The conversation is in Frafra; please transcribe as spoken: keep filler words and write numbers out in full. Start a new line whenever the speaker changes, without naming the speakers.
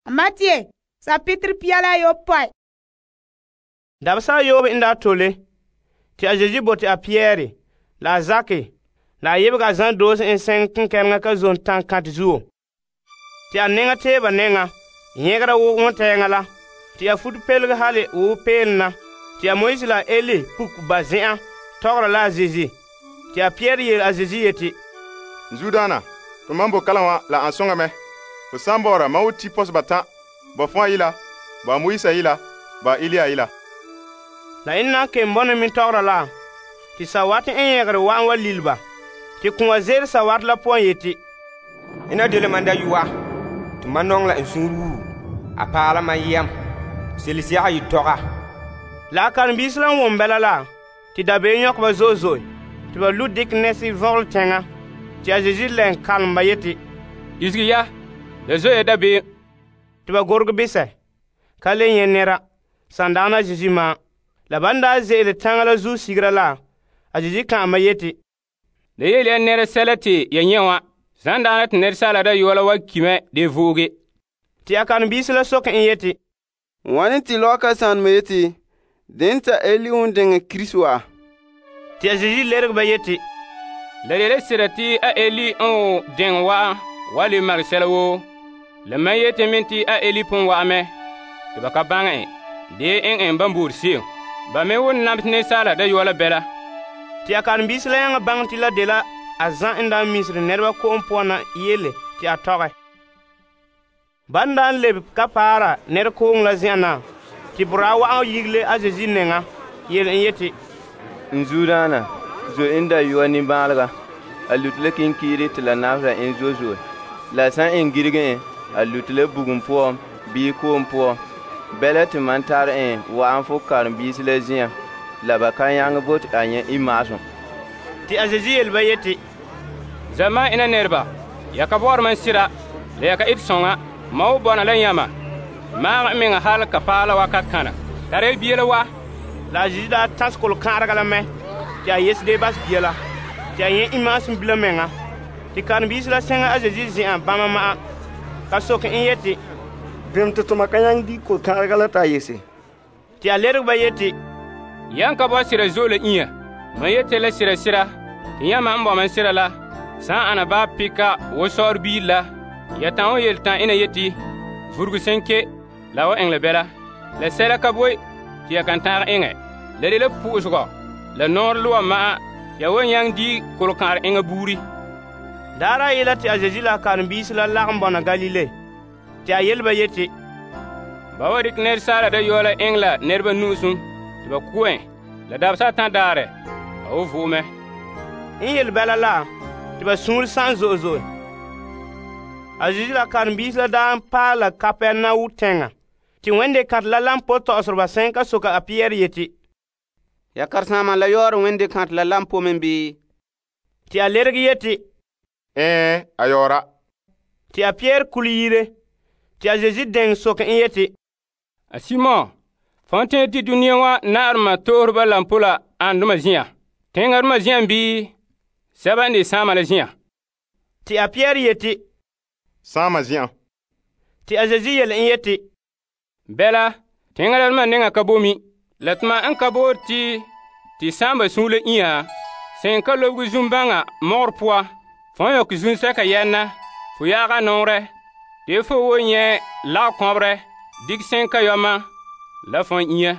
Matthew, chapitre pia la ayopɔe.
Dabesa yoobe n daa tole, te a Yesu bote a Pierre, la a Zake, la a yebega a zan doose en seŋ kenkɛleŋa ka zon tan kantɛ zuo. Te a neŋa tee ba nɛŋa, yɛgera wo wontɛɛŋa la, te a futo pelege hale wo peelom na, te a Moise la Eli puk ba zen'an tɔgɔra la a Yesu. Te a Pierre yele a Yesu yeti,
Zuodaana, to mam bo kalam wa la an soŋa mɛ. Fo san bɔ'ɔra mam wo ti pɔsɛ batan', ba fɔa yila, ba Moise yila, ba Elia yila.
La en na kem bɔna min tɔgɔra la, te sawate en yɛgere wa'an wa lil ba. Te kũa ze'ele sawate la poan yeti,
Ina dole man da yu'a, te man nɔŋɛ la n suunre wuu, a paala man yɛm, selesiaga yi tɔga.
La a karen-biisi la n wom bɛla la, te dabeem nyɔkɛ ba zo'e zo'e, te ba lu' dikɛ nɛɛse vɔgele teŋa. Te a Yesu lɛn kalom ba yeti,
Isege ya, la zo'e dabeem.
Te ba gorege bisɛ, ka le nyɛ nɛra, sandaana Yesu ma. La ban daa ze'ele taŋa la zuo sigera la, a Yesu ka'an ba yeti,
La yele ya nɛra sɛla te ya nyɛ wã, sandaana te Asaala Dayɔa la wa ki mɛ de vooge.
Te a karen-biisi la soke en yeti,
Wane te lɔka sanema yeti, den ta Eli n diŋɛ Kirisi wa?
Te a Yesu lerege ba yeti,
La de la sira te a Eli n diŋɛ wa'an wa le magɛ sɛla woo. La mam yeti min te a Eli pon wa'a mɛ, te ba ka baŋɛ en, de en en ban boore se'em. Ba me won nam te Asaala Dayɔa la bɛla.
Te a karen-biisi la yãŋa baŋɛ te la dela a zã n daa misere nɛreba ko'om poan na yele te a tɔgɛ. Ban daa n lebe ka paara nɛrekooŋɔ la zen'an na, te boraa wa'an yigile a Yesu nɛŋa, yele en yeti,
N zuodaana, zo en dayɔa nimbaalega, a luti la kinkiiri te la nabera en zo'e zo'e. La san en girige en, a luti la bugum poan bii ko'om poan. Bɛla te man tare en wa'an fo karen-biisi la zi'an, la ba ka nyaŋɛ bote a nyɛ imaasum.
Te a Yesu yele ba yeti,
Zamaan ina nɛreba, ya ka bɔ'ɔra mam sira, la ya ka ete sɔŋa. Ma wo bɔna la yãma, maagɛ meŋa hal ka paala wakat kana. Tara ya bia la wa.
La a Yesu daa tãs kolokãarega la mɛ, te a yese de bas bia la, te a nyɛ imaasum bila meŋa. Te karen-biisi la sɛŋa a Yesu zen'an bãmba ma'an, ka soke en yeti,
Bem te toma ka nyaŋɛ di kolokãarega la ta yese?
Te a lerege ba yeti,
Yan ka bɔ sira zo la inya. Man yete la sira sira, te yãma n bɔ man sira la, sãn ana baa pika wo sɔɔre biir la, ya tã wo yeltã ina yeti, vurugu sẽn ke, la wa eŋɛ la bɛla. La sɛla ka boe tɩ ya kan tãag eŋɛ. La de la pʋʋsgɔ, la nɔɔr loa ma'an, ya wa yãng di kolokãar eŋa buuri.
Daara yela te a Yesu la a karen-biisi la lagom bɔna Galile. Te a yele ba yeti,
Ba wa dikɛ Asaala Dayɔa la eŋɛ la nɛreba nu'usum, tɩ ba ku en, la dabesa tã daarɛ, a wo vo'e mɛ.
n yele bɛla la, te ba suunre sãn zo'e zo'e. A Yesu la karen-biisi la daa n paɛ la Kapɛrnaum tɛŋa. Te wẽnde kãtɛ la lam po tɔ'ɔsreba sẽn ka soka a Pierre yeti,
Ya karesaamã la yaoore wẽnde kãtɛ la lam po men bii?
Te a lerege yeti,
Ɛɛ, a yaoora.
Te a Pierre kule yire. Te a Yesu dɛŋ soke en yeti,
A Simon, fõn tẽ tɩ dũniyã wã naarmã toosreba lam po la ãndoma zĩyã? Tẽngadmã zĩyã bii sɛba n de sãama la zĩyã?
Te a Pierre yeti,
Sãama zĩ'an.
Te a Yesu yele en yeti,
Bɛla, tẽngdbã nengã ka bomi, la tɩma n ka boor tɩ tɩ sãamba sũur la ĩyã, sẽn ka lobg zũm-bãŋa mogr pʋa, fõn yõk zũnsɛka yɛnna, fo yaaga nɔɔrɛ, tɩ fo wo nyɛ lagkɔbrɛ, dig sẽn ka yɔma, la fõn ĩyã.